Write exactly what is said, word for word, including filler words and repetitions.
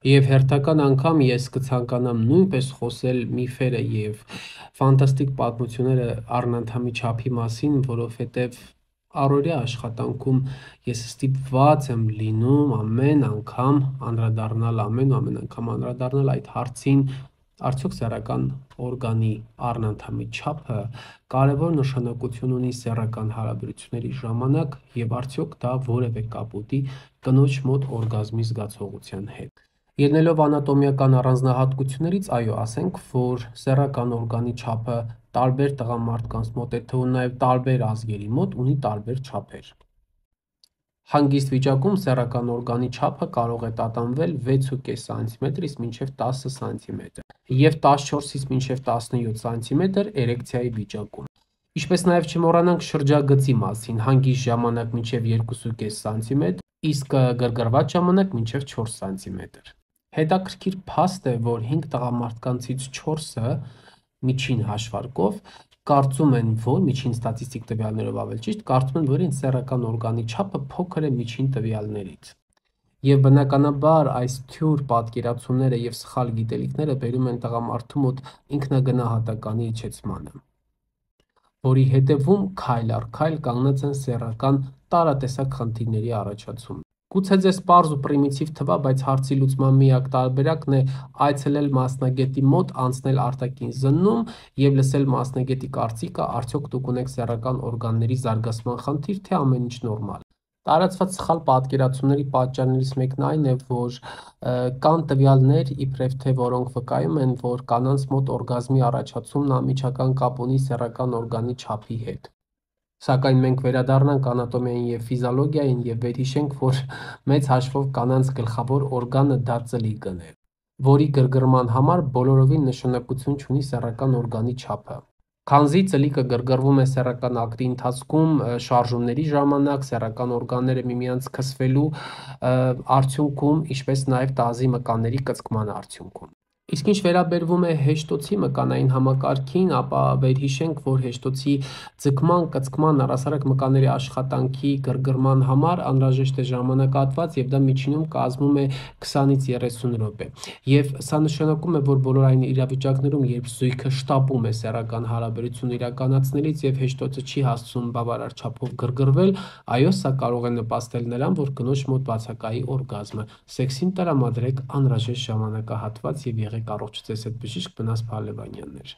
Եվ հերթական անգամ ես կցանկանամ նույնպես խոսել միֆերը եւ ֆանտաստիկ պատմությունները առնանդամի չափի մասին, որովհետեւ առօրյա աշխատանքում ես ստիպված եմ լինում ամեն անգամ անդրադառնալ ամեն ու ամեն անգամ անդրադառնալ այդ հարցին, արդյոք սեռական օրգանի առնանդամի չափը կարևոր նշանակություն ունի սեռական հարաբերությունների ժամանակ եւ արդյոք դա որևէ կապ ունի կնոջ մոտ օրգազմի զգացողության հետ։ Ելնելով անատոմիական առանձնահատկություններից, այո, ասենք, որ սեռական օրգանի չափը տարբեր տղամարդկանց մոտ է թվում նաև տարբեր ազգերի մոտ ունի տարբեր չափեր։ Հանգիստ վիճակում սեռական օրգանի չափը կարող է տատանվել վեց ու կես սանտիմետրից մինչև տասը սանտիմետր եւ տասնչորսից մինչև տասնյոթ սանտիմետր էրեկցիայի վիճակում։ Ինչպես նաև չմոռանանք շրջագծի մասին, հանգիստ ժամանակ մինչև երկու ու կես սանտիմետր, իսկ գրգռված ժամանակ մինչև չորս սանտիմետր։ Հետաքրքիր փաստ է, որ հինգ տղամարդկանցից չորսը միջին հաշվարկով կարծում են, որ միջին ստատիստիկ տվյալներով ավելի ճիշտ, կարծում են, որ իրենց սեռական օրգանի չափը փոքր է միջին տվյալներից։ Եվ բնականաբար այս թյուր պատկերացումները եւ սխալ գիտելիքները բերում են տղամարդու մոտ ինքնագնահատականի իջեցմանը, որի հետևում քայլ առ քայլ կանգնած են սեռական տարատեսակ խնդիրների առաջացումը։ Գուցե ձեզ պարզ ու պրիմիտիվ թվա, բայց հարցի լուծման միակ տարբերակն է այցելել մասնագետի մոտ, անցնել արտաքին զննում եւ լսել մասնագետի կարծիքը, արդյոք դուք ունեք սեռական օրգանների զարգացման խնդիր, թե ամեն ինչ նորմալ։ Տարածված սխալ պատկերացումների պատճառներից մեկն այն է, որ կան տվյալներ, իբրև թե որոնք վկայում են, որ կանանց մոտ օրգազմի առաջացումն անմիջական կապ ունի սեռական օրգանի չափի հետ։ Սակայն մենք վերադառնանք անատոմիային եւ ֆիզիոլոգիային եւ վերհիշենք, որ մեծ հաշվով կանանց գլխավոր օրգանը դա ծլիկն է, որի գրգռման համար բոլորովին նշանակություն չունի սեռական օրգանի չափը։ Քանզի ծլիկը գրգռվում է սեռական ակտի ընթացքում շարժումների ժամանակ, սեռական օրգանները միմյանց քսվելու արդյունքում, ինչպես նաև տազի մկանների կծկման արդյունքում։ Իսկ ինչ վերաբերվում է հեշտոցի մկանային համակարգին, ապա վերհիշենք, որ հեշտոցի ձգման, կծկման, առհասարակ մկանների աշխատանքի գրգռման համար անհրաժեշտ է ժամանակահատված եւ դա միջինում կազմում է քսանից երեսուն րոպե։ Եվ սա նշանակում է, որ բոլոր այն իրավիճակներում, երբ զույգը շտապում է սեռական հարաբերություն իրականացնելիս եւ հեշտոցը չի հասցնում բավարար չափով գրգռվել, այո, սա կարող է նպաստել նրան, որ կնոջ մոտ բացակայի օրգազմը։ Սեքսին տրամադրեք անհրաժեշտ ժամանակահատված եւ եղեք առողջ ձեզ հետ բժիշկ Մնաս Փալևանյաններ։